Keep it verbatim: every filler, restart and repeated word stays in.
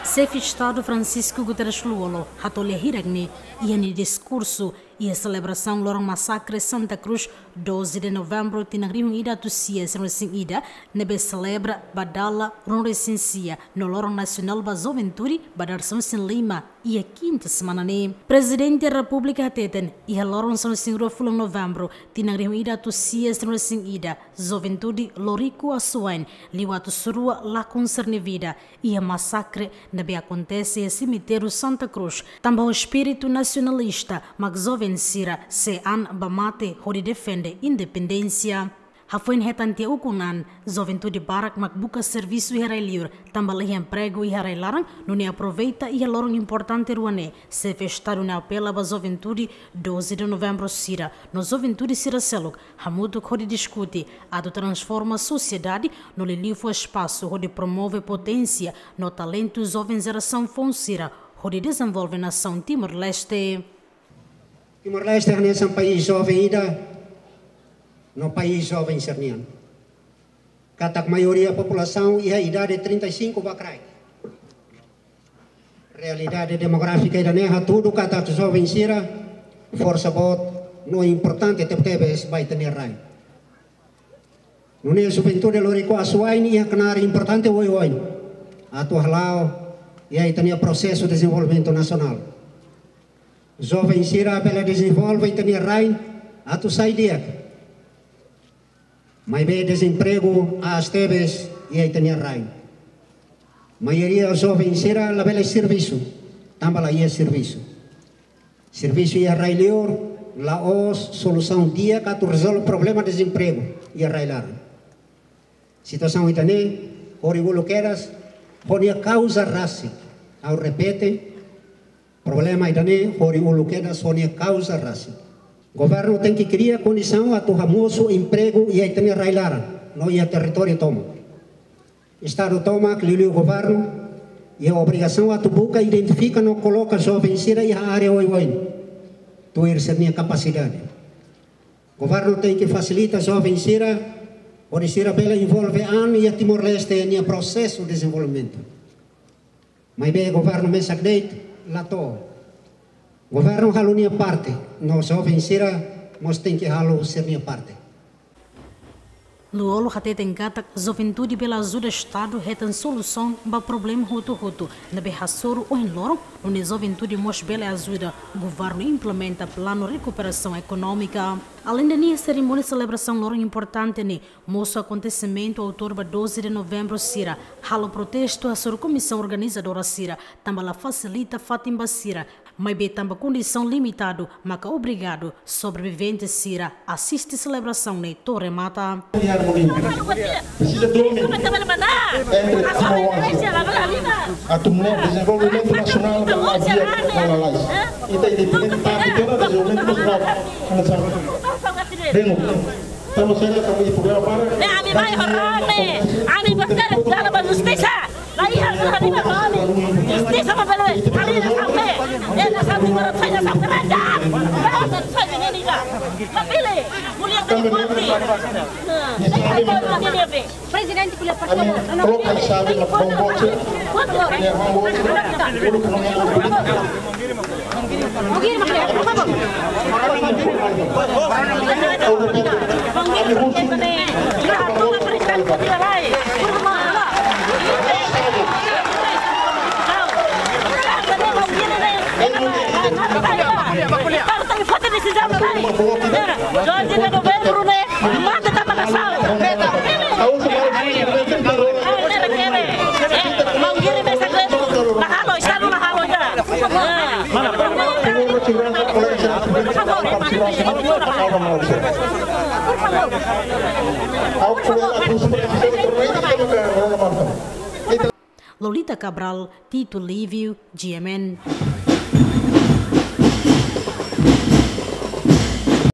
Xefe Estadu Francisco Guterres Lú-Olo hato'o lia hirak ne'e iha nia diskursu iha selebrasaun loron masakre Santa Cruz, doze de novembro, tinan rihun ida atus sia sanulu-resin-ida, ne'ebé selebra ba dala ruanulu-resin-sia no loron nasionál ba juventude ba dadeer sanulu-resin-lima iha kinta semana ne'e. Prezidente Repúblika hateten, iha loron sanulu-resin-rua fulan novembro, tinan rihun ida atus sia sanulu-resin-ida, juventude Loriku Aswain liu atus rua lakon sira-nia vida iha masakre ne'ebé akontese iha semitériu Santa Cruz, tanba ho espíritu nasionalista mak joven sira sei an ba mate hodi defende independénsia. Hafoin hetan tiha ukun an, juventude barak mak buka servisu iha rai-liur, tanba la iha empregu iha rai-laran, nune'e aproveita iha loron importante rua ne'e, Xefe Estadu ne'e apela ba juventude doze de novembro sira no juventude sira seluk hamutuk hodi diskute atu transforma sosiedade no liuliu fó espasu hodi promove poténsia no talentu joven jerasaun foun sira hodi dezenvolve nasaun Timor-Leste. Timor-Leste hanesan país joven ida no país joven sira-nian. Katak maioria populasaun iha idade trinta e cinco ba kraik. Realidade demográfika ida-ne'e hatudu katak joven sira forsa boot no importante tebetebes ba ita-nia rai. Nune'e juventude Loriku Aswain iha knaar importante oioin atu hala'o iha ita-nia prosesu dezenvolvimentu nasionál. Joven sira bele dezenvolve ita-nia rai atu sai di'ak. Maibé dezempregu aas tebes iha ita-nia rai. Maioria joven sira labele servisu, tanba la iha servisu. Servisu iha rai-liur la'ós solusaun di'ak atu rezolve problema dezempregu iha rai-laran. Situasaun ida-ne'e horiuluk kedas ho nia kauza rasik. Ha'u repete, problema ida-ne'e horiuluk kedas ho nia kauza rasik. Governu tenke kria kondisaun atu hamosu empregu iha ita-nia rai-laran no iha territóriu tomak. Estadu tomak, liuliu governu, iha obrigasaun atu buka, identifika no koloka joven sira iha área oioin tuir sira-nia kapasidade. Governu tenke fasilita joven sira hodi sira bele envolve an iha Timor-Leste nia prosesu dezenvolvimentu. Maibé governu mesak de'it la to'o. Governu halo nia parte, no joven sira mós tenke halo sira-nia parte. Lú-Olo hateten katak juventude bele ajuda Estadu hetan solusaun ba problema hotu-hotu ne'ebé hasoru ohin loron, nune'e juventude mós bele ajuda governu implementa planu rekuperasaun ekonómika. Aleinde ne'e, serimónia selebrasaun loron importante ne'e mosu akontesimentu autour ba doze de novembro sira, halo protestu hasoru komisaun organizadora sira, tanba la fasilita fatin ba sira, maibé tanba kondisaun limitadu maka obrigadu sobrevivente sira asiste selebrasaun ne'e to'o remata. Presiza domin entre timoroan atu nune'e dezenvolvimentu nasionál ka la di'ak, ka la lalais. Ita independente, tanba ita-nia dezenvolvimentu nasionál. Bem, tanba sira, tanba iha problema barak. Ne'e ami mai ho rame, ami berkata dalam justisa. Lai hal hal lima kali. Justisa ma bele. Kali na sampai. Eh, na sampai baru saya sampai raja. Baru saya ini dah. Papile, mulia kali kuati. Nah, ini apa? Prezidente, por favor. Ami troka xave na bomboche. Ne'e bomboche. Ulu kano ya. Mata tanba nasaun. Maun Giri mesak de'it. La halo, Estadu la halo ida. Lolita Cabral, Tito Livio, G M N.